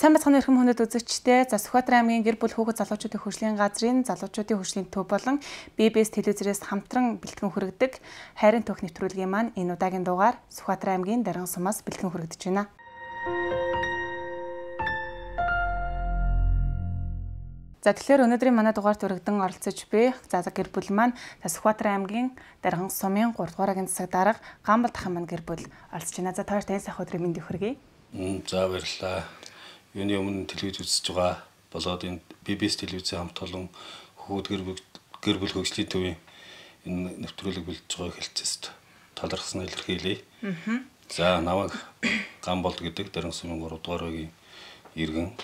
Сайн бацхан эрхэм хүндэт үзэгчдээ Сүхбаатар аймгийн гэр бүл хүүхэд залуучуудын хөгжлийн газрын залуучуудын хөгжлийн төв болон BBS телевизээс хамтран бэлтгэн хүргэдэг хайрын түүх нэвтрүүлгийн маань энэ удаагийн дугаар Сүхбаатар аймгийн Дарган сумаас бэлтгэн хүргэж байна. За тэгэхээр өнөөдрийн манай дугаарт өргөдөн оролцож буй гэр бүл маань Сүхбаатар аймгийн Дарган сумын 3 дугаар агийн засаг дарга Гамбал дахин маань гэр бүл оролцож байна. За таарт энэ сайхан өдрийн мэндийг хүргэе. За баярлалаа. Юуны өмнө телевиз үзэж байгаа болоод энэ BBS телевизийн хамт олон хүүхэд гэр бүл хөгжлийн төвийн энэ нэвтрүүлэг бэлдэж байгааг хэлцээст талархсан илэрхийлье. За намайг Гамбол гэдэг Дарган сумын 3 дугаар агийн иргэн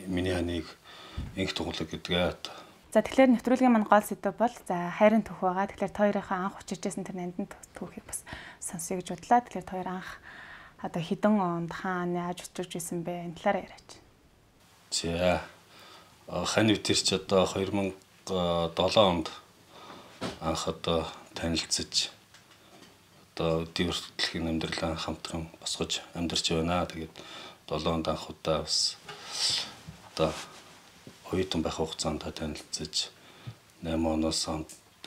миний ханыг инх туглаг гэдгээ. За тэгэхээр нэвтрүүлгийн маань гол сэдв бол за хайрын түүх байгаа. Тэгэхээр та хоёрынхаа анх учирч байсан тэр нандин түүхийг бас сонсъё гэж бодлаа. Тэгэхээр та хоёр анх одоо хэдэн онд хаана яаж учирч байсан бэ? Энэ талаараа яриач. За хань үтэрч одоо 2007 онд анх одоо танилцж одоо өдний хүртэлхийн амьдралаа хамтран босгож амьдарч байна. Тэгээд 7 онд анх удаа бас одоо оюутан байх хугацаанд танилцж 8 оноос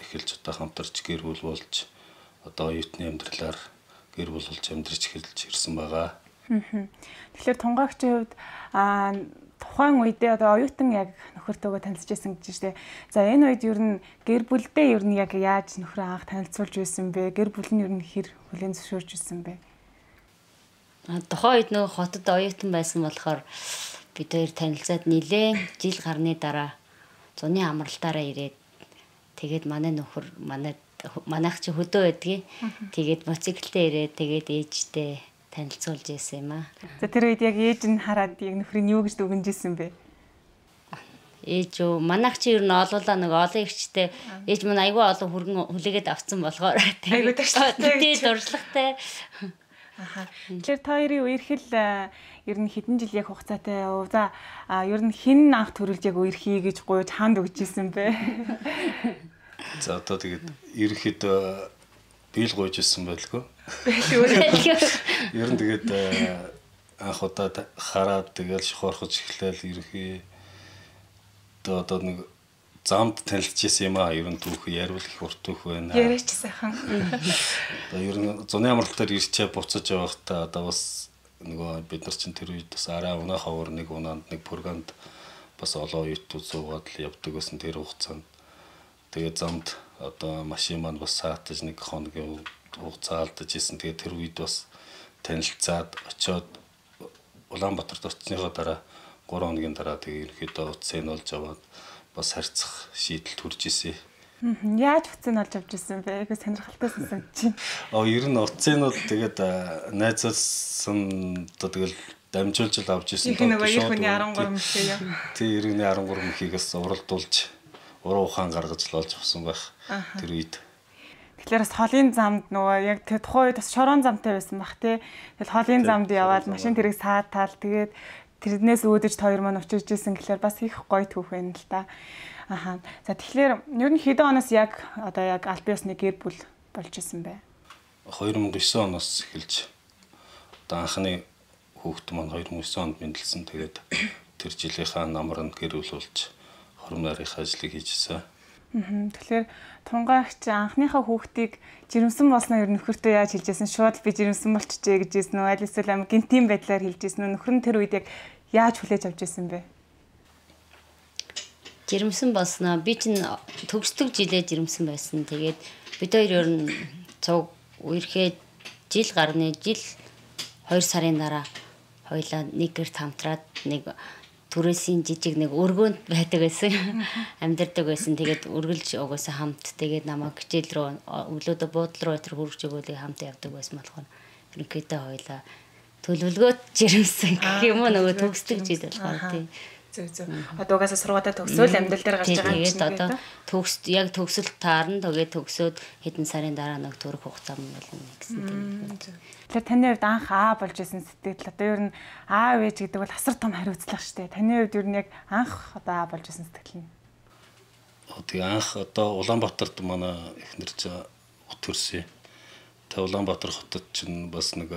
эхэлж одоо хамтарч гэр бүл болж одоо оюутны амьдралаар гэр бүл болж амьдарч эхэлж ирсэн байгаа. Тэгэхээр тунгаагчийн хувьд тухайн үедээ одоо оюутан яг нөхөртөөгөө танилцж байсан гэж штэ. За энэ үед ер нь гэр бүлдээ ер нь яг яаж нөхрөө анх танилцуулж байсан бэ? Гэр бүл нь ер нь хэр хүлээн зөвшөөрж байсан бэ? Тухайн үед нөгөө хотод оюутан байсан болохоор бид хоёр танилцаад нилээн жил гарны дараа зуны амралтаараа ирээд тэгээд манай нөхөр манайх чи хөдөө байдгийг тэгээд моциклтэй ирээд тэгээд ээжтэй танилцуулж ирсэн юм аа. За тэр үед яг ээж нь хараад яг нөхрийн юу гэж дүгнэж ирсэн бэ? Ээж үү манайх чи ер нь олоолаа нэг олон ихчтэй ээж мань айгүй олон хүргэн хүлээгээд авцсан болохоор айгүй дуршлагтай дуршлагтай. Тэгэхээр та хоёрын үерхэл ер нь хэдэн жил яг хугацаатай яв. За ер нь хэн анх төрүүлж яг үерхий гэж гуйж хаанд өгч ирсэн бэ? За одоо тэгээд ерөнхийдөө биел гуйж ирсэн байлгүй. Ер нь тэгээд анх удаа хараад тэгээд шухуурхаж эхлээл ерөнхий одоо нэг замд танилцж ирсэн юм аа. Ер нь түүх яриул их урт түүх байна. Яриач сайхан. Одоо ер нь зуны амралтаар ирчээ буцаж явахдаа одоо бас нөгөө бид нар чинь тэр үед бас арай унаа ховор нэг унаанд нэг пурганд бас олон оюутнууд суугаад л явдаг гэсэн тэр хугацаанд тэгээд замд одоо машин маань бас саатаж нэг хоногийн хугацаа алдаж исэн. Тэгээд тэр үед бас танилцаад очиод Улаанбаатарт очсныхоо дараа 3 хоногийн дараа тэгээд ерөөдөө утсыг нь олж аваад бас харьцах шийдэл төрж исэн. Яаж утсыг нь олж авч ирсэн бэ? Их сонирхолтой сонсогдож байна. Ер нь утсынууд тэгээд найзуулсан одоо тэгэл дамжуулж л авч ирсэн. Их нөгөө ирхэний 13 мөхөө яа. Тий, иргэний 13 мөхийгээс уралдуулж уруу ухаан гаргаж л олж авсан байх тэр үед. Тэгэхээр бас холын замд нөгөө яг тэр тухайн үед бас шорон замтай байсан бах тий. Тэгэл холын замд яваад машин тэрэг саатаал тэгээд тэрнээс үүдэж хоёр маань учирж исэн гэхэлэр бас их гоё түүх байна л та. За тэгэхээр ер нь хэдэн оноос яг одоо яг аль биесны гэр бүл болж исэн бэ? 2009 оноос эхэлж одоо анхны хүүхэд маань 2009 онд мэндэлсэн. Тэгээд тэр жилийнхаа намар нь гэр бүл болж хором нарийнхаа ажлыг хийжсэн. Тэгэхээр тунгаагч анхныхаа хүүхдийг жирэмсэн болсноо ер нь нөхөртөө яаж хэлжсэн? Шууд би жирэмсэн болчихжээ гэж хэлсэн үү? Аль эсвэл амар гинтийн байдлаар хэлжсэн үү? Нөхөр нь тэр үед яг яаж хүлээж авч ирсэн бэ? Жирэмсэн болсноо би чинь төгсдөг жилээ жирэмсэн байсан. Тэгээд бид хоёр ер нь цуг үерхээ жил 2 сарын дараа хоёлаа нэг гэрт хамтраад нэг түрээсийн жижиг нэг өргөөнд байдаг байсан. Амьдардаг байсан. Тэгээд үргэлж угаасаа хамт тэгээд намайг хичээл рүү өглөөдөө буудлын руу хөргөж өгөөлэй хамт явдаг байсан болохоор ерөнхийдөө хоёлаа төлөвлөгөөд жирэмсэн гэх юм уу нөгөө төгсдөг жил болохоор тийм. Зөв. Одоо угаасаа сургуулаа төгсөөл амьдрал дээр гарч байгаа юм чинь. Тэгээд одоо яг төгсөлт таарна. Тэгээд төгсөөд хэдэн сарын дараа нэг төрөх хугацаа юм болно гэсэн тийм. Тэгэхээр таны хувьд анх болж исэн сэтгэл одоо ер нь аав ээж гэдэг бол асар том хариуцлага шүү дээ. Таны хувьд ер нь яг анх одоо болж исэн сэтгэл нь. Тэгээ анх одоо Улаанбаатарт манай эхнэр чинь төрсөн. Тэгээ Улаанбаатар хотод чинь бас нэг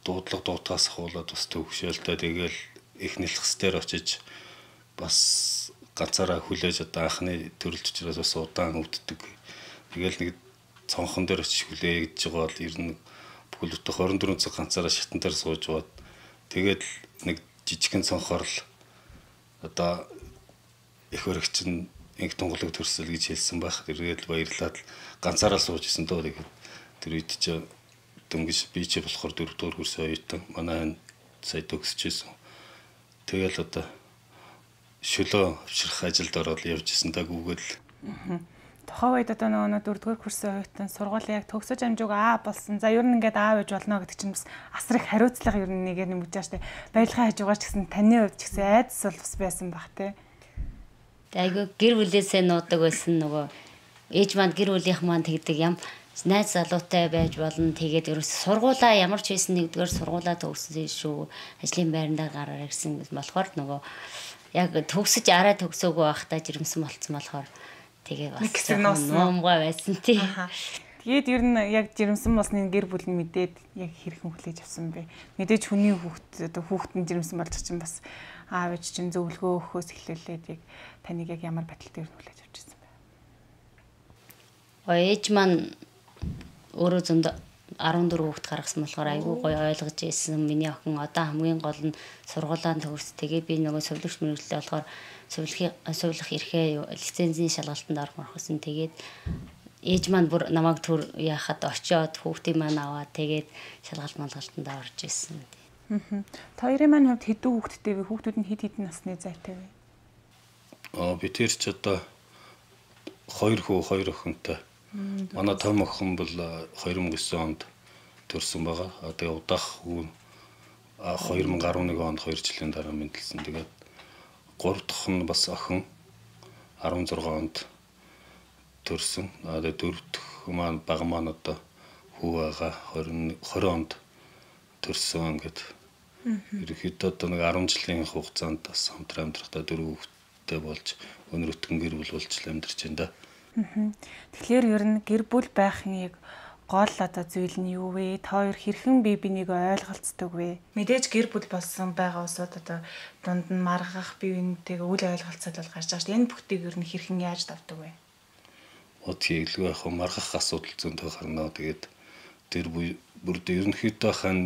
дуудлага дуутаас ахуулаад бас төвшөөлтэй тэгэл их нэлхсдээр очиж бас ганцаараа хүлээж одоо анхны төрөлж учраас бас удаан өвддөг. Тэгэл нэг цонхон дээр очиж хүлээж байгаа бол ер нь бүхэл бүтэн 24 цаг ганцаараа шатан дээр сууж бод. Тэгээд нэг жижигхэн цонхоор л одоо их өргөч нь инх тунгалаг төрсөл гэж хэлсэн байх. Тэгээд баярлаад ганцаараа сууж исэн дөө тэгээд тэр үед чи дөнгөж би чи болохоор 4 дугаар курсын оюутан манай сая төгсөжсэн. Тэгэл одоо шөлөө авчрах ажилд ороод явж исэн дагүйгэл. Тухайн үед одоо нөгөө 4 дугаар курсын оюутан сургуулийн яг төгсөж амжууг болсон. За ер нь ингээд аав ээж болно гэдэг чинь бас асар их хариуцлага ер нь нэгээр нэмж байгаа штэ. Баярлахын хажуугаар ч гэсэн таны хувьд ч гэсэн айдас бол бас байсан бах те. Айгу гэр бүлээсээ нуудаг байсан нөгөө ээж манд гэр бүлийнх маань тэгдэг юм найз залуутай байж болно. Тэгээд ерөөс сургуулаа ямар ч байсан нэгдүгээр сургуулаа төгссөн шүү. Ажлын байрандаа гараар ирсэн болохоор нөгөө яг төгсөж арай төгсөөгөө байхдаа жирэмсэн болцсон болохоор тэгээ бас нуумгаа байсан тий. Тэгээд ер нь яг жирэмсэн болсны гэр бүл нь мэдээд яг хэрхэн хүлээж авсан бэ? Мэдээж хүний хүүхэд одоо хүүхэд нь жирэмсэн болж чинь бас аав ээж чинь зөвлөгөө өгөхөөс эхлүүлээд яг таныг яг ямар байдалтай ер нь хүлээж авч ирсэн бэ? Ээж маань өөрөө зөнд 14 хүүхэд гаргасан болохоор айгүй гоё ойлгож ирсэн. Миний охин одоо хамгийн гол нь сургуулаа төгс. Тэгээ би нөгөө сувилагч мэргэжлээ болохоор сувилах эрхээ лицензийн шалгалтанд орох гэсэн. Тэгээд ээж маань бүр намайг төр яхад очиод хүүхдийн маань аваад тэгээд шалгалт малгалтанд орж ирсэн. Хоёрын маань хувьд хэдэн хүүхэдтэй вэ? Хүүхдүүд нь хэд хэдэн насны зайтай вэ? Би тэр ч одоо 2 хүү 2 охинтой. Манай том охин бол 2009 онд төрсэн байгаа. Тэгээ удах хүү 2011 онд 2 жилийн дараа мэндэлсэн. Тэгээд 3 дахь нь бас охин 16 онд төрсэн. Тэгээ 4 дахь маань бага маань одоо хүү байгаа 20 онд төрсэн ингээд. Ерөнхийдөө одоо нэг 10 жилийн хугацаанд бас хамтран амьдрахтаа 4 хүүхэдтэй болж өнөр өтгөн гэр бүл болж амьдарч байна да. Тэгэхээр ер нь гэр бүл байхын яг гол одоо зүйл нь юу вэ? Та хоёр хэрхэн бие бинийг ойлголцдог вэ? Мэдээж гэр бүл болсон байгаа усуд одоо дунд нь маргах бие биентэйгээ үл ойлголцоод бол гарч байгаа шүү дээ. Энэ бүгдийг ер нь хэрхэн яаж давдаг вэ? Тэглгүй яг маргах асуудал зөндөө гарна. Тэгээд тэр бүрд ерөнхийдөө хан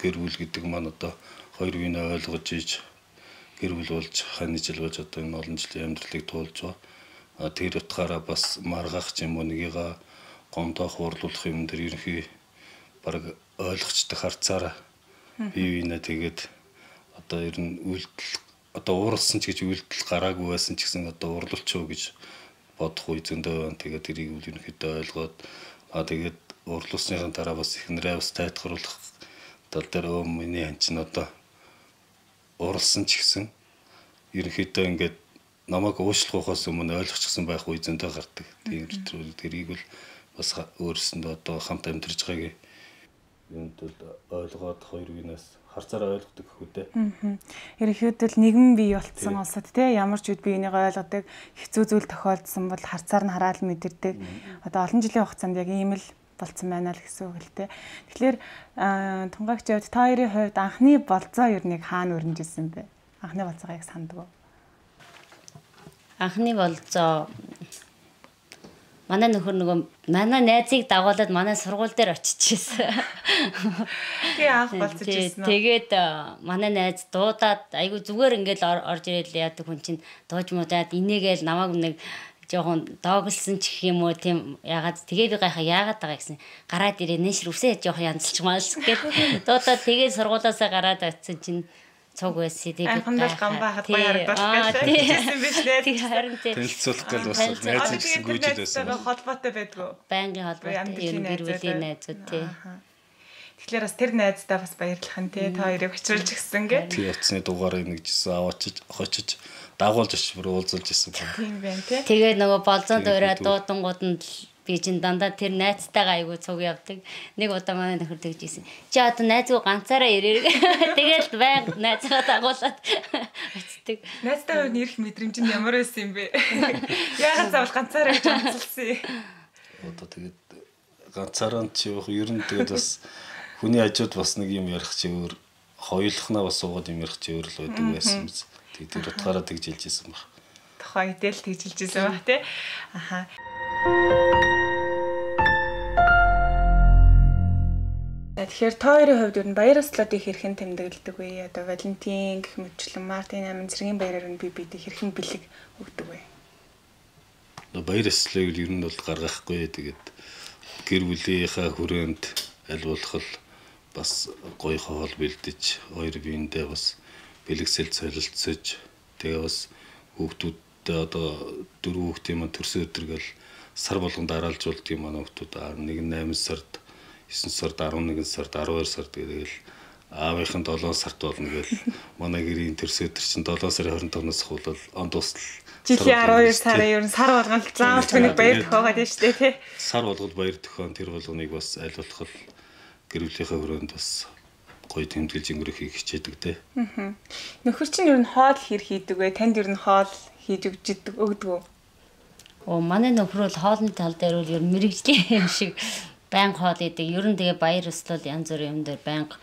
гэр бүл гэдэг маань одоо хоёр биенээ ойлгож иж гэр бүл болж хань жил болж одоо энэ олон жилийн амьдралыг туулж байгаа. Тэр утгаараа бас маргах юм уу нэгийгээ гомдоох уурлуулах юм дээр ерөнхий баг ойлгочтой харцаараа бие биенээ тэгээд одоо ер нь үйлдэл одоо ууралсан ч гэж үйлдэл гараагүй байсан ч гэсэн одоо уурлуулчихөө гэж бодох үе зөндөө байна. Тэгээд тэрийг ерөнхийдөө ойлгоод тэгээд уурлуулсныхаа дараа бас эхнэрээ бас тайлбарлах тал дээр миний хан чинь одоо ууралсан ч гэсэн ерөнхийдөө ингээд намайг уушлахаас өмнө ойлгочихсон байх үе зөндөө гардаг. Тийм тэрийг бол бас өөрсөндөө одоо хамт амьдарч байгааг юунд бол ойлгоод хоёр биенээс харцаараа ойлгодог хөөдөө. Ерөнхийдөө нийгэм бий болцсон улсад тий ямар ч үед биенийг ойлгодог хэцүү зүйл тохиолдсон бол харцаар нь хараад мэдэрдэг. Одоо олон жилийн хугацаанд яг ийм л болцсон байна л гэсэн үг л тий. Тэгэхээр тунгаагч явд та хоёрын хувьд анхны болцоо ер нь хаана өрнөжсэн бэ? Анхны болцоогоо яг санддаг уу? Анхны болцоо манай нөхөр нөгөө манай найзыг дагуулад манай сургууль дээр очижсэн. Тэгээ анх болцож ирсэн. Тэгээд манай найз дуудаад айгу зүгээр ингээл орж ирэл яадаг хүн чинь дууж муудаад инээгээл намайг нэг жоохон доогөлсөн ч гэх юм уу тийм ягаад тэгээ би гайхаа яагаад байгаа гэсэн гараад ирээ нэшэр үсээ жоохон янзлж маалс гэд дуудаад тэгээ сургуулаасаа гараад очсон чинь цог байсан. Тэгээд анхандаа гамбаа хад баяр харагдах гэсэн биш нэ. Танилцуулах гал бас найз гэсэн гүйжил байсан. Холбоотой байдгүй. Байнгын холбоотой ер нь гэр бүлийн найзууд тий. Тэгэхээр бас тэр найздаа бас баярлах нь тий та хоёрыг очруулж гисэн гэ. Тий утасны дугаарыг нэгжсэн аваачиж хочиж дагуулж очиж бүр уулзуулж ирсэн байна. Тийм байна тий. Тэгээд нөгөө болзон дуурай дуудангууд нь би чинь дандаа тэр найзтайгаа айгу цуг явдаг. Нэг удаа манай нөхөр тэгж ийсэн. Чи одоо найзгүй ганцаараа ирээ. Тэгээд байнга найзгаа дагуулад очдөг. Найзтай хувь нэрх мэдрэмж нь ямар байсан юм бэ? Яагаад заавал ганцаараа гэж онцолсон юм? Одоо тэгээд ганцаараа ч ер нь тэгээд бас хүний хажууд бас нэг юм ярих чи өөр хоёулахнаа бас суугаад юм ярих чи өөр л байдаг байсан биз. Тэгээд тэр утгаараа тэгж хэлжсэн баг. Тухайн идэл тэгж хэлжсэн баг тий. Аха. Тэгэхээр та хоёрын хувьд ер нь баяр ёслолуудыг хэрхэн тэмдэглэдэг вэ? Одоо Валентин гэх мэтчлэн Мартин амин цэргийн баяраар нь бид хэрхэн бэлэг өгдөг вэ? Баяр ёслолыг ер нь бол гаргахгүй. Тэгээд гэр бүлийнхаа хүрээнд аль болох бас гоё хоол бэлдэж, хоёр биендээ бас бэлгэсэл солилцож, тэгээ бас хүүхдүүдтэй одоо 4 хүүхдийн маань төрсөн өдргөл сар болгонд дараалжуулдаг юм манай хүүхдүүд. Нэг нь 8 сард, 9 сард, 11 сард, 12 сард тэгэл аавынхан 7 сард болно гэл манай гэрийн төрсөн өдөр чинь 7 сарын 25-наас хуулал он дуустал жилийн 12 сарын ер нь сар болгонд заавалж нэг баяр төхөөгээд байна шүү дээ тий. Сар болгоод баяр төхөөн тэр болгоныг бас аль болох гэр бүлийнхээ хүрээнд бас гоё тэмдэглэж өнгөрөх хичээдэг те. Нөхөр чинь ер нь хоол хэр хийдэг вэ? Танд ер нь хоол хийж өгдөг үү? Манай нөхөр бол хоолны тал дээр бол ер нь мэрэгжлийн юм шиг байнга хоол идэг. Ер нь тэгээ баяр ёслол янз бүрийн юм дээр байнга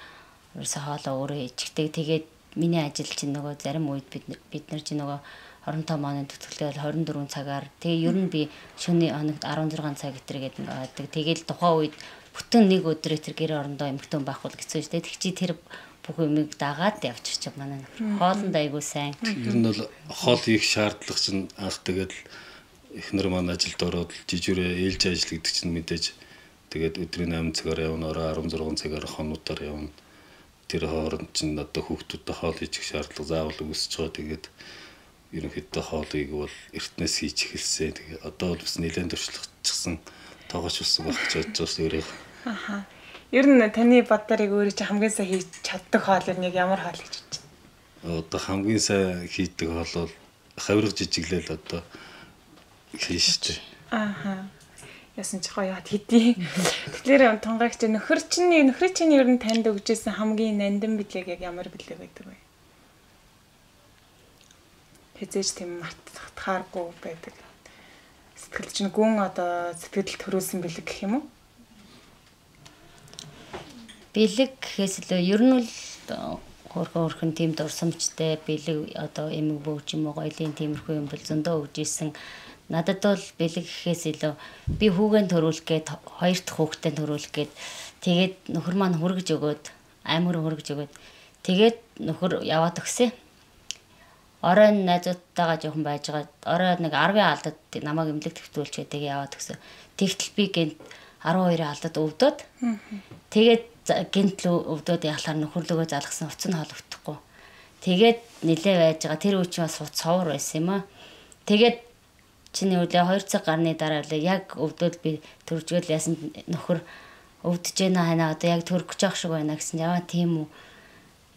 ерөөсө хоолоо өөрөө ичдэг. Тэгээд миний ажил чинь нөгөө зарим үед бид нар чинь нөгөө 25 монын төтөлтэй 24 цагаар тэгээ ер нь би шөнийн хоногт 16 цаг гэтэр гэдэг байдаг. Тэгээд тухайн үед бүтэн нэг өдөр тэр гэр орондоо эмхтэн байхгүй гэсэн шүү дээ. Тэг чи тэр бүх юмыг дагаад явчих манай нөхөр. Хоолнд айгуу сайн. Ер нь бол хоол хийх шаардлага чинь анх тэгээд эхнэр маань ажилд ороод жижигрээ ээлж ажил гэдэг чинь мэдээж тэгээд өдрийн 8 цагаар явна, орой 16 цагаар хонуудаар явна. Тэр хооронд чинь одоо хүүхдүүдтэй хоол хийчих шаардлага заавал үүсэж байгаа. Тэгээд ерөнхийдөө хоолыг бол эртнээс хийж эхэлсэн. Тэгээд одоо бол бас нэлээд туршлагачихсан тоогооч болсон байх гэж бодож байна өөрөө. Аха. Ер нь таны боддорыг өөрөө чи хамгийн сайн хийж чаддаг хоол нь яг ямар хоол гэж бодож байна? Одоо хамгийн сайн хийдэг хоол бол хавирга жижиглэл одоо хийн штэ. Аха. Ясан ч гоё яд хэдий. Тэгэхээр тунгаагч нөхрийн чинь ер нь танд өгжсэн хамгийн нандин билег яг ямар билег байдаг вэ? Хэзээж тийм мартахааргүй байдаг. Сэтгэл чинь гүн одоо сэтгэл төрүүлсэн билег гэх юм уу? Бэлэг гэхээс илүү ер нь бол хөрхөн тийм дурсамжтай бэлэг одоо эмэг бөөч юм уу гоёлын тиймэрхүү юм бол зөндөө өгж исэн. Надад бол бэлэг гэхээс илүү би хүүгэн төрүүлэх гээд хоёр дахь хүүхдээ төрүүлэх гээд тэгээд нөхөр маань хүргэж өгөөд амар хүргэж өгөөд тэгээд нөхөр яваад өгсөн. Орой найзуудтайгаа жоохон байж байгаа. Орой нэг 10-ын алдад намайг эмнэлэг төвтүүлж байдаг яваад өгсөн. Тэгтэл би гэнт 12-ын алдад өвдөд. Тэгээд гэнт л өвдөд яхалаар нөхөрлөгөө залгсан уцсан хоол өгдөхгүй. Тэгээд нилээ байж байгаа. Тэр үуч бас цовор байсан юм аа. Тэгээд чиний үлээ 2 цаг гарны дараа үлээ яг өвдөд би төржгөл яасан нөхөр өвдөж байна ханаа одоо яг төрөх гэж байх шиг байна гэсэн. Яваа тийм үү.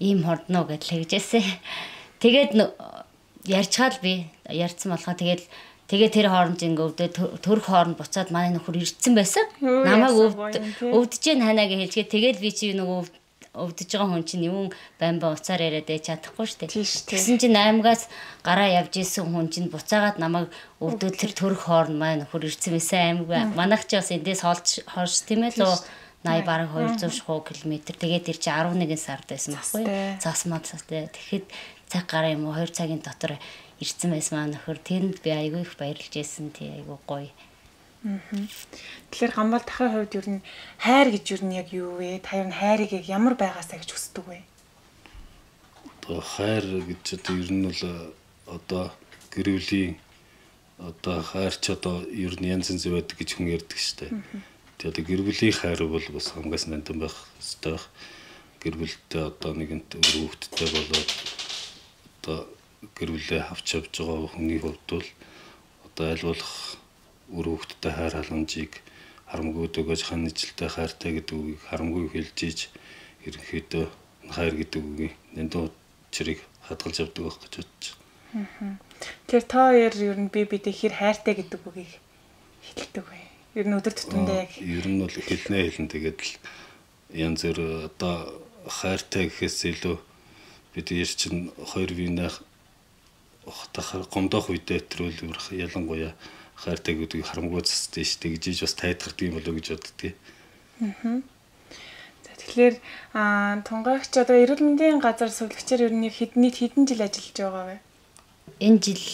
Ийм хордно гэж хэлжээсэ. Тэгээд ярьчаал би ярьсан болохоо тэгээд тэр хооронд ингээ өвдөд төрөх хооронд буцаад манай нөхөр ирцэн байсан. Намайг өвдөж जैन ханаа гэж хэлчихээ. Тэгээд би чи нөгөө өвдөж байгаа хүн чинь юм бамбаа уцаар яриад чадахгүй штэ. Тэгсэн чинь 8-аас гараа явж исэн хүн чинь буцаагаад намайг өвдөд тэр төрөх хооронд манай нөхөр ирцэн байсан аймаг. Манайх ч бас эндээс хойш тийм ээ лөө 80 бараг 200 км. Тэгээд тэр чи 11 сард байсан байхгүй. Цасмаа цастай. Тэгэхэд цаг гараа юм уу 2 цагийн дотор ирсэн байсан маа нөхөр. Тэрэнд би айгүй их баярлж байсан. Тий айгүй гоё. Тэгэхээр гамбал тахын хувьд ер нь хайр гэж ер нь яг юу вэ? Та ер нь хайрыг яг ямар байгаасаа гэж хүсдэг вэ? Одоо хайр гэж одоо ер нь бол одоо гэр бүлийн одоо хайр ч одоо ер нь янз янз байдаг гэж хүн ярьдаг штэ. Тэгээд одоо гэр бүлийн хайр бол бас хамгаас нандин байх ёстой байх. Гэр бүлтэй одоо нэгэнт хүүхэдтэй болоод одоо гэр бүлээ авч явж байгаа хүний хувьд бол одоо аль болох хүүхэдтэй хайр халамжийг харамгүй өгөөж ханилжтай хайртай гэдэг үгийг харамгүй хэлж ийж ерөнхийдөө хайр гэдэг үгийг нандин учрыг хадгалж явдаг байх гэж бодож байна. Тэгэхээр та хоёр ер нь бидээ хэр хайртай гэдэг үгийг хэлдэг вэ? Ер нь өдөр тутамдаа яг ер нь бол хэлнэ тэгээд л янз бүр одоо хайртай гэхээс илүү бид яар чинь хоёр биенийх хатахаар гомдох үедээ төрөл ялангуяа хайртай гэдгийг харамгүй цастай штэ гэж бас тайлбардаг юм болоо гэж боддгийг. За Тэгэхээр тунгаагч одоо эрүүл мэндийн газар сувлагчаар ер нь хэдэн жил ажиллаж байгаа вэ? Энэ жил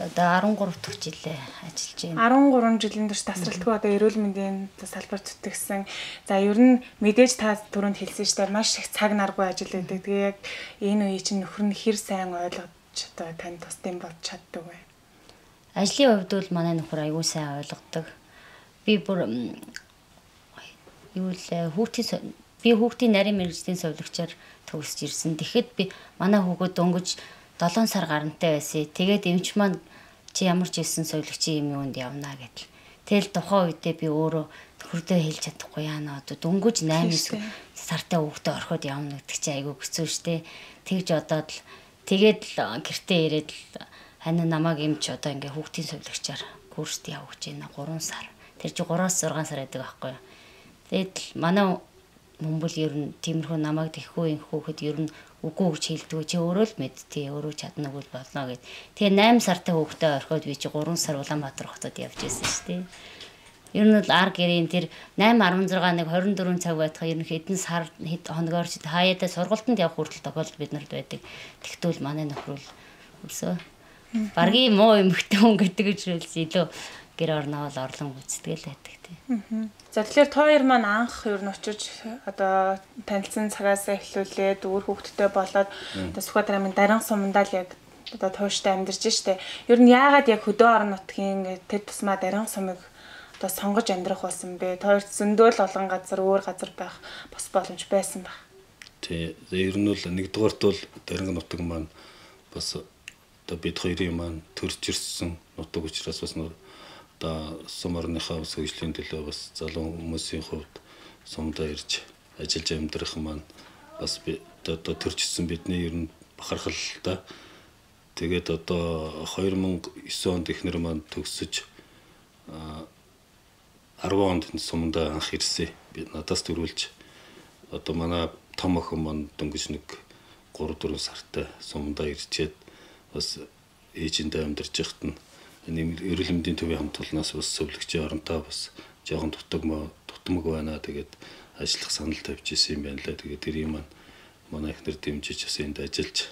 одоо 13 дахь жилээ ажиллаж байна. 13 жилийн турш тасралтгүй одоо эрүүл мэндийн салбар зүтгэсэн. За ер нь мэдээж та түрүүнд хэлсэн шүү дээ маш их цаг наргүй ажил байдаг. Тэгээ яг энэ үе чинь нөхөр нь хэр сайн ойлгож одоо тань тусдсан болж чаддаг вэ? Ажлын хувьд бол манай нөхөр аягүй сайн ойлгодог. Би бүр хүүхдийн нарийн мэргэжлийн сувлагчаар төгсөж ирсэн. Тэгэхэд би манай хүүхэд дөнгөж 7 сар гарантай байсан. Тэгээд эмч маань чи ямар ч ирсэн сувлагчийн юм юунд явна гэдэл. Тэгэл тухайн үедээ би өөрөө нөхөрдөө хэлж чадахгүй яана одоо дөнгөж 8 сартай хүүхдээ орхиод явна гэдэг чи айгүй хэцүү шттэ. Тэгж одоод л тэгээд л гэртээ ирээд л хань намайг эмч одоо ингээ хүүхдийн сувлагчаар курст явуулж байна 3 сар. Тэр чи 3-6 сар байдаг байхгүй юу. Тэгэд л манай мөмбөл ер нь тиймэрхүү намайг тэхгүй хүүхэд ер нь үгүй гэж хэлдэг. Чи өөрөө л мэдтий өөрөө чадна үгүй болно гэд. Тэгээ 8 сартай хүүхдээ орхиод би чи 3 сар Улаанбаатар хотод явж байсан шүү дээ. Ер нь л ар гэрийн тэр 8 16 1 24 цаг байтах ер нь хэдэн сар хоногоор чи хаяада сургалтанд явах хүртэл тохиолдол бид нарт байдаг. Тэгтвэл манай нөхрөл өсөө баргийн муу эмхтэй хүн гэдэг учраас илүү гэр орноо л орлон үзтгэл байдаг тий. За тэгэхээр та хоёр маань анх ер нь очиж одоо танилцсан цагаас эхлүүлээд өөр хүүхэдтэй болоод одоо Сүхбаатарын дарин сумандаа л яг одоо тууштай амьдарч штэ. Ер нь яагаад яг хөдөө орон нутгийн тэр тусмаа дарин сумыг одоо сонгож амьдрах болсон бэ? Та хоёрт зөндөл олон газар өөр газар байх бас боломж байсан баг. Тий. Ер нь бол нэгдүгээрт бол дарин нутаг маань бас одоо бид хоёрын маань төрж ирсэн нутаг учраас бас одоо сум орныхаа хөгжлийн төлөө бас залуу хүмүүсийн хувьд сумдаа ирж ажиллаж амьдрах маань бас одоо төржсэн бидний ер нь бахархал та. Тэгээд одоо 2009 онд ихнэр маань төгсөж 10 онд сумдаа анх ирсэн. Би надаас төрүүлж одоо манай том охин маань дөнгөж нэг 3-4 сартай сумдаа ирчээд бас ээжиндээ амьдарч яхад нь эрүүл мэндийн төвийн хамт олноос бас сувлагчийн оронтой бас жоохон дутмаг байна. Тэгээд ажиллах санал тавьж исэн юм байна лээ. Тэгээд тэр юм манай ихнэр дэмжиж бас энд ажиллаж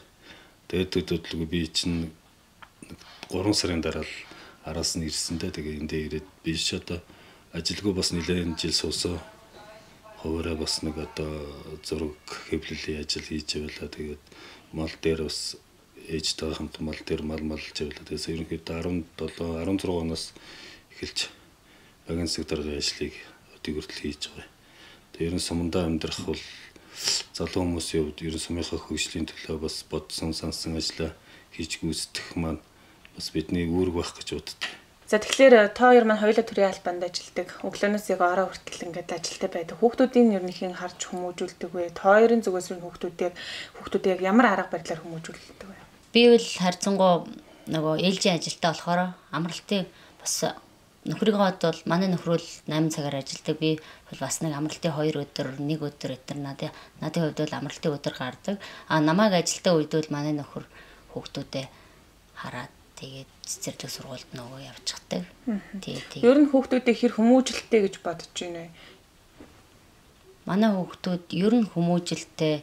тэгээд төдөлгүй би чинь 3 сарын дараа л араас нь ирсэндээ тэгээд эндээ ирээд би ч одоо ажилгүй бас нэлээд жил суусаа хуваараа бас нэг одоо зураг хэвлэлийн ажил хийж явлаа. Тэгээд мал дээр бас ээжтэй хамт мал дээр малж явлаа. Тэгээс ерөнхийдөө 16 оноос эхэлж багийн секторын ажлыг өдөө хүртэл хийж байгаа. Тэгээ ерөн сумдаа амьдрах бол залуу хүмүүсийн хувьд ерөн сумынхаа хөгжлийн төлөө бас бодсон сансан ажиллаа хийж гүйцэтгэх маань бас бидний үүрэг байх гэж боддог. За тэгэхээр та хоёр маань хоёулаа төрийн албанд ажилладаг. Өглөөнөөс яг ороо хүртэл ингээд ажилтаа байдаг. Хүүхдүүдийн ерөнхийн харж хүмүүжүүлдэг вэ? Та хоёрын зүгээс хүүхдүүд яг ямар арга барилаар хүмүүжүүлдэг вэ? Би бол харьцангуй нөгөө ээлжийн ажилтаа болохоор амралтын бас нөхрийнхөө бол манай нөхрөл 8 цагаар ажилдаг. Би бол бас нэг амралтын 2 өдөр, 1 өдөр надын хувьд бол амралтын өдөр гардаг. Намайг ажилтаа үед бол манай нөхөр хүүхдүүдэд хараад тэгээд цэцэрлэг сургуульд нөгөө явчихдаг. Тэгээд ер нь хүүхдүүдээ хэр хүмүүжлэлтэй гэж бодож байна вэ? Манай хүүхдүүд ер нь хүмүүжлэлтэй.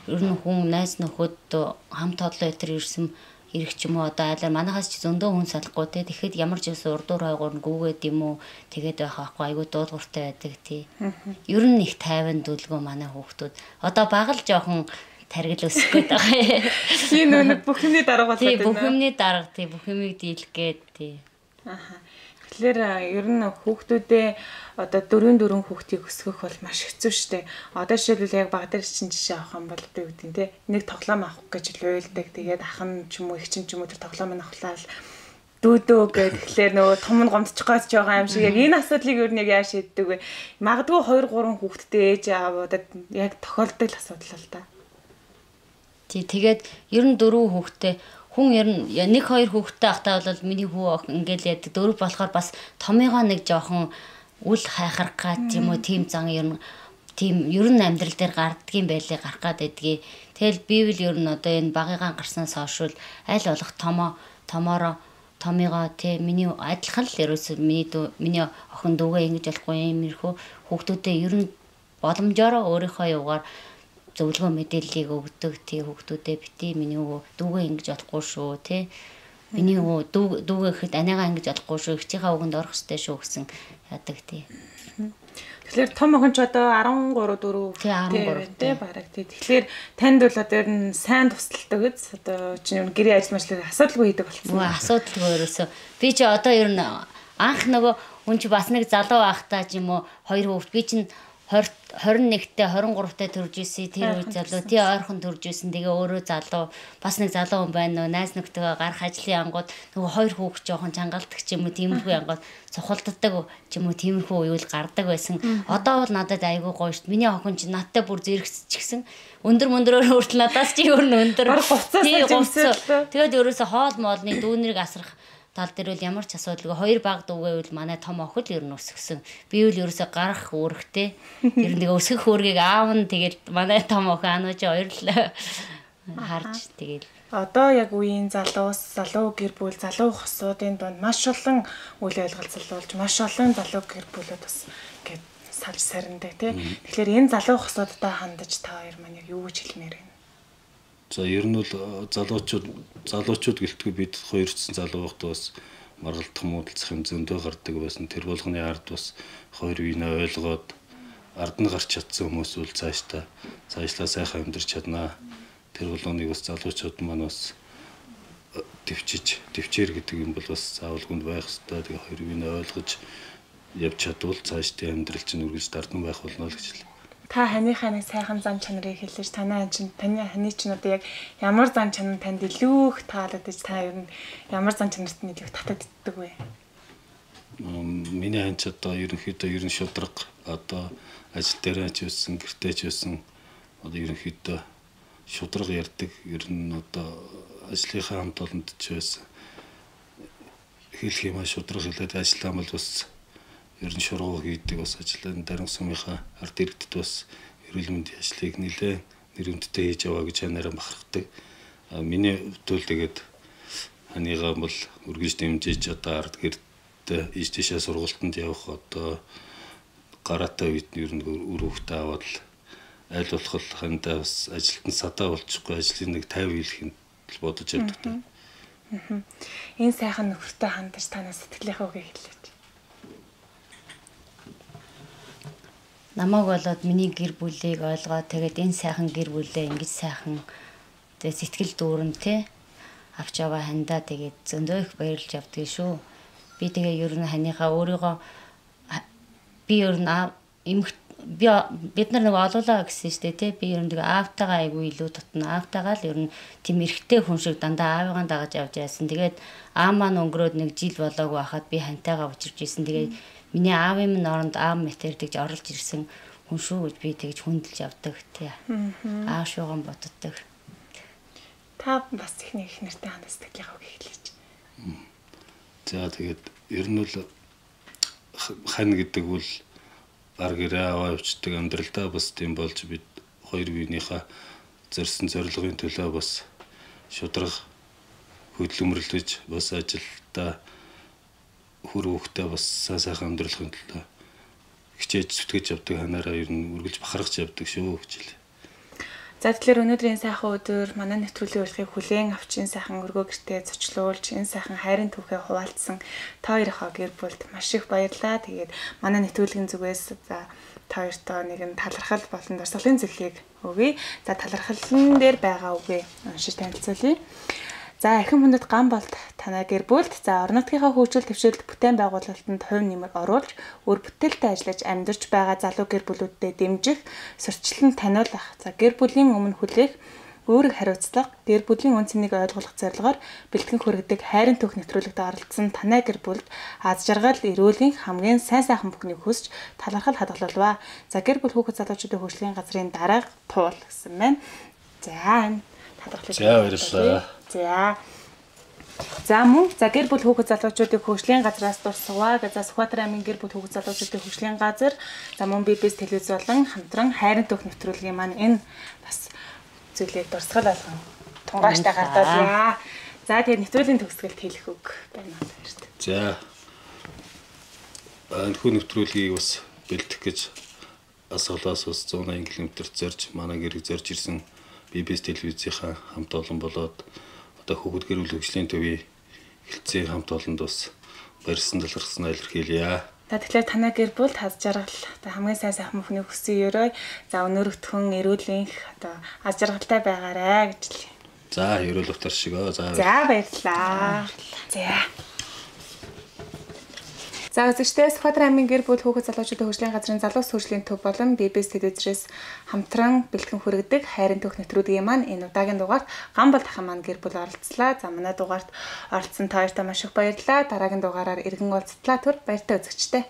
Ер нь хүн найз нөхөд хамт олон ирсэн ирэх ч юм уу одоо айлаар манахаас ч зөндөө хүн салахгүй те. Тэгэхэд ямар ч юм урдуур хайгуур гүгээд юм уу тэгээд байх байхгүй айгүй дуулууртай байдаг тий. Ер нь их тайван дүлгөө манай хүүхдүүд. Одоо багал жоохон таргил өсөх гээд байгаа. Тийм нэг бүх юмний дарга болоод байна. Тий бүх юмний дарга тий бүх юмыг дийлэх гээд тий. Тэгэхээр ер нь хүүхдүүдээ одоо 4 хүүхдийг өсгөх бол маш хэцүү шттэ. Одоо жишээлбэл яг баг дээр чинь жишээ авах юм бол одоо юу гэдэг те нэг тоглоом авах гэж уйлдаг. Тэгээд ахын ч юм уу их ч юм уу тэр тоглоомыг авахлаа дүүдөө гэхлээр нөгөө том нь гомдчих гойж байгаа юм шиг яг энэ асуудлыг ер нь яг яаж шийддэг вэ? Магадгүй 2-3 хүүхэдтэй ээж аавуудад яг тохиолддог асуудал л та. Тэгээд ер нь 4 хүүхэдтэй хүн ер нь 1-2 хүүхэдтэй ахтаа бол миний хүү ингээл яд 4 болохоор бас томьёогоо нэг жоохон үл хайхрах гад юм уу тийм зан ер нь амьдрал дээр гардгийн байлыг гарах гад байдгийг. Тэгэл би бол ер нь одоо энэ багыгаан гарснаас хойш аль болох томьёогоо тий миний адилхан л ерөөсөө миний охин дүүгээ ингэж болохгүй юм ирхүү хүүхдүүдээ ер нь боломжоор өөрийнхөө юугаар зөвлөгөө мэдээллийг өгдөг тий хүүхдүүдэд бити миний дүүгээ ингэж болохгүй шүү тий. Миний дүүгээ ихэд аниагаа ингэж болохгүй шүү. Ихчийнхаа үгэнд орох ёстой шүү гэсэн яадаг тий. Тэгэхээр том охин ч одоо 13 4 тий бараг тий. Тэгэхээр танд бол одоо ер нь сайн тусалдаг үз. Одоо чинь гэрээ ажил мэжлэг асуудалгүй хийдэг болсон. Асуудалгүй ерөөсөө. Би ч одоо ер нь анх нөгөө хүн чи бас нэг залуу байхдаа ч юм уу 2 хүүхэд би чинь 21-т 23-т төрж исэн тэр үе залуу тий ойрхон төрж исэн тэгээ өөрөө залуу бас нэг залуу хүн байна нөө найз нөхдөйгөө гарах ажлын ангууд нөгөө 2 хүүхэд жоохон чангалдаг ч юм уу тиймэрхүү ангууд цухалддаг ч юм уу тиймэрхүү уюул гардаг байсан. Одоо бол надад айгүй гоё шүү дээ. Миний охин чи надтай бүр зэрэгсчихсэн. Өндөр мөндрөөр хүртэл надаас чи өөр нь өндөр. Тэгээд ерөөсө хоол моолны дүүнэрийг асрах тал дээр бол ямар ч асуудалгүй 2 баг дүүгээвэл манай том охид ер нь өсгсөн. Би бол ерөөсө гарах үүрэгтэй. Ер нь тэгээ өсгөх үүргийг аав нь тэгэл манай том охин анууч хоёр л харж тэгэл. Одоо яг үеийн залуу гэр бүл залуу хосуудын донд маш олон үйл ойлголцол болж маш олон залуу гэр бүлүүд бас ингээд салж сарндаг тий. Тэгэхээр энэ залуу хосуудтай хандаж та хоёр маань яг юу гэж хэлмээр байна? За ер нь бол залуучууд гэлтгүй бид хоёрцсан залуу байхдаа бас маргалдах муудалцах юм зөндөө гардаг байсан. Тэр болгоны ард бас хоёр үеийнээ ойлгоод ард нь гарч чадсан хүмүүс бол цаашлаа сайхан амьдарч чаднаа. Тэр болгоныг бас залуучууд маань бас төвчээр гэдэг юм бол бас заавал хүнд байх хэрэгтэй. Тэгээ хоёр үеийнээ ойлгож явж чадвал цаашдын амьдрал чинь үргэлж дардан байх болно л гэж хэлээ. Та ханыхаа нэг сайхан зан чанарыг хэлж таны чинь одоо яг ямар зан чанар танд илүү их таалагдаж та ер нь ямар зан чанарт нь илүү татагддаг вэ? Миний хань ч одоо ерөнхийдөө ер нь шудраг одоо ажил дээр ч байсан гэртээ ч байсан одоо ерөнхийдөө шудраг ярьдаг ер нь одоо ажлынхаа хамт олонд ч байсан хэлэх юм шудраг хэлээд ажиллаа бол бас ер нь шургуу хийдэг бас ажлын дарин сумынхаа ард иргэдэд бас эрүүл мэндийн ажлыг нэлээд нэрвэнттэй хийж яваа гэж ханаараа бахархдаг. Миний хувьд тэгээд ханыгаа бол үргэлж дэмжиж одоо ард гэрдээ ийш тийшээ сургалтанд явах одоо гараатай үед ер нь үр хөвгтөө аваад л аль болох хандаа бас ажилтан садаа болчихгүй ажлын нэг 50 хэлэх нь бодож явдаг. Энэ сайхан нөхөртэй хандаж танаас сэтгэлийнхээ үгийг хэлээч. Намайг болоод миний гэр бүлийг ойлгоод тэгээд энэ сайхан гэр бүлээ ингэж сайхан тэгээд сэтгэл дүүрэн те авч яваа хандаа тэгээд зөндөө их баярлж явдаг шүү. Би тэгээ ер нь ханыхаа өөрийгөө би ер нь бид нар нэг олоолаа гэсэн штэ те би ер нь тэгээ аавтайгаа айгүй илүү тутна аавтайгаа л ер нь тийм эрэгтэй хүн шиг дандаа аавыгаа дагаж явж яасан. Тэгээд аав маань өнгөрөөд нэг жил болоогүй хахад би хантайгаа учирч исэн. Тэгээд миний аавын минь оронд аав мэтэрдэж орлож ирсэн хүн шүү гэж би тэгж хүндэлж явдаг тий. Аав шууган боддог. Та бас их нэртэй хандаа сэтгэлийнхээ үгийг хэлээч. За тэгээд ер нь бол хань гэдэг бол гар гэрээ аваа явцдаг амьдралдаа бас тийм болж бид хоёр биенийхээ зорьсон зорилгын төлөө бас шудраг хөдөлмөрлөж бас ажилдаа хүр хөвгтөө бас сайхан амьдралын төлөө хичээж зүтгэж явдаг ханаараа ер нь үргэлж бахархаж явдаг шүү гэж хэлээ. За тэгэхээр өнөөдрийн сайхан өдөр манай нэвтрүүлгийн урилгыг хүлээн авчин сайхан өргөө гэртээ зочлуулж энэ сайхан хайрын түүхээ хуваалцсан та хоёроо гэр бүлд маш их баярлалаа. Тэгээд манай нэвтрүүлгийн зүгээс за та хоёртоо нэгэн талархал болон дурсгалын зөвлөгөөг өгье. За талархалн дээр байгаа үгээ уншиж танилцуулъя. За эрхэм хүндэт ган болт танай гэр бүлд за орон нутгийнхаа хөгжил төвшөлт бүтээн байгуулалтанд хувь нэмэр оруулж өөр бүтээлтэй ажиллаж амьдарч байгаа залуу гэр бүлүүдэд дэмжих, сурчлан таниулах, за гэр бүлийн өмнө хүлээх, өөрийг хариуцлах, гэр бүлийн үн цэнийг ойлгох зорилгоор бэлтгэн хүргэдэг хайрын түүх нэвтрүүлэгт оролцсон танай гэр бүлд аз жаргал, эрүүлийн хамгийн сайн сайхан бүхнийг хүсч талархал хадгалуулва. За гэр бүл хүүхэд залуучуудын хөгжлийн газрын дарга туул гэсэн байна. За баярлалаа. За мөн за гэр бүл хүүхэд залуучуудын хөгжлийн газраас дурсаваа гэж Сүхбаатар аймгийн гэр бүл хүүхэд залуучуудын хөгжлийн газар за мөн BBS телевиз болон хамтран хайрын түүх нэвтрүүлгийн маань энэ бас зүйлийг дурсгал болгон тунгааштай гардуулъя. За тэгээд нэвтрүүлгийн төгсгөлд хэлэх үг байна уу баяртай. За энэ хүн нэвтрүүлгийг бас бэлдэх гэж Асгалаас ус 180 км зорж манай гэрэг зорж ирсэн BBS телевизийнхаа хамт олон болоод одоо хүүхэд гэр бүл хөгжлийн төвийн хэлтсийн хамт олонд бас барьсан талархснаа илэрхийлье. Тэгэхээр танай гэр бүл аз жаргал одоо хамгийн сайн сайхан бүхний хүссэн өрөө за өнөөрөгтхөн эрүүлэнх одоо аз жаргалтай байгаарэ гэж л. За ерөөл утар шигөө. За баярлалаа. За үзэгчдээ Сүхбаатар аймгийн гэр бүл хүүхэд залуучуудын хөгжлийн газрын залуус хөгжлийн төв болон BBS телевизээс хамтран бэлтгэн хүргэдэг хайрын төх нэвтрүүлгийн маань энэ удаагийн дугаарт Гамбал дахин маань гэр бүл оролцлаа. За манай дугаарт оролцсон та хоёртаа маш их баярлалаа. Дараагийн дугаараар иргэн уулзтлаа. Түр баяртай үзэгчдээ.